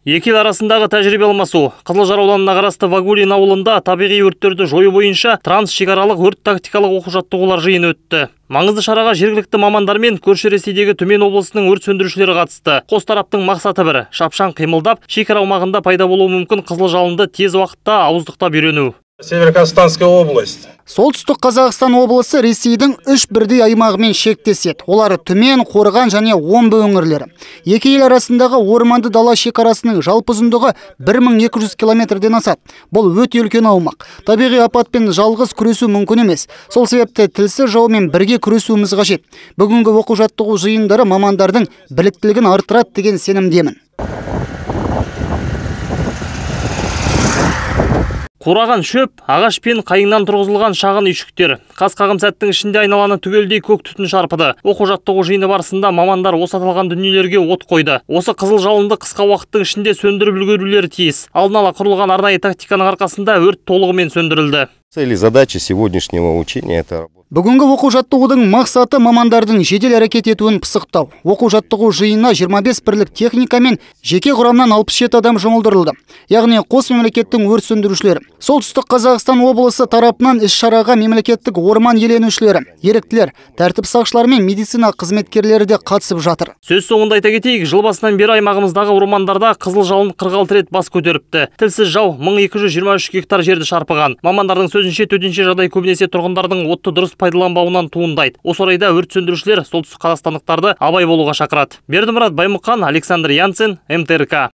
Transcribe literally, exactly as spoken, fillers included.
Екі ел арасындағы тәжірибе алмасу. Қызылжар ауданына қарасты Вагулин ауылында табиғи өрттерді жою бойынша трансшекаралық өрт тактикалық оқу-жаттығулар жиыны өтті. Маңызды шараға жергілікті мамандар мен көрші Ресейдегі Төмен облысының өрт сөндірушілері қатысты. Қос тараптың мақсаты бір: шапшаң қимылдап, шекара аумағында пайда болуы мүмкін қызыл жалынды тез уақытта ауыздықтап үйрену. Северо-Казахстанская область. Солтүстік Қазақстан облысы Ресейдің үш бірдей аймағымен шектеседі. Олар Түмен, Қорған және Омбы өңірлері. Екі ел арасындағы орманды дала шекарасының жалпы ұзындығы бір мың екі жүз километрден асады. Бұл өте үлкен аумақ. Табиғи апатпен жалғыз күресу мүмкін емес. Сол себепті тілсіз жаумен бірге күресуіміз қажет. Бүгінгі оқу-жаттығу жиындары мамандардың біліктілігін арттырады деген сенімдемін. Қураған шөп, ағаш пен қайыңнан тұрғызылған шағын үйшіктер. Қас-қағым сәттің ішінде айналаны түгелдей көк түтін шарпыды. Оқу-жаттығу жиыны барысында мамандар осы аталған дүниелерге от қойды. Осы қызыл жалынды қысқа уақыттың ішінде сөндіріп үлгерулері тиіс. Алдын ала құрылған арнайы тактиканың арқасында өрт толығымен сөндірілді. Цели задачи сегодняшнего учения это работа. Бүгінгі оқу-жаттығудың мақсаты мамандардың жедел әрекет етуін пысықтау. Оқу-жаттығу жиынына жиырма бес бірлік техника мен жеке құрамнан алпыс жеті адам жұмылдырылды. Яғни қос мемлекеттің өрт сөндірушілері. Солтүстік Қазақстан облысы тарапынан іс-шараға мемлекеттік орман иеленушілері, еріктілер, тәртіп сақшылары мен медицина қызметкерлері де қатысып жатыр. Сөз соңында айта кетейік, жыл басынан бері аймағымыздағы ормандарда қызыл жалын қырық алты рет бас көтеріпті. Тілсіз жау мың екі жүз жиырма үш гектар жерді шарпыған. Мамандардың сөзінше төтенше жағдай көбінесе тұрғындардың отты дұрыс пайдаланбауынан туындайды. Осы орайда өрт сөндірушілер солтүстік қазақстандықтарды абай болуға шақырады. Бердімұрат Баймұқан, Александр Янцин, эм тэ эр ка.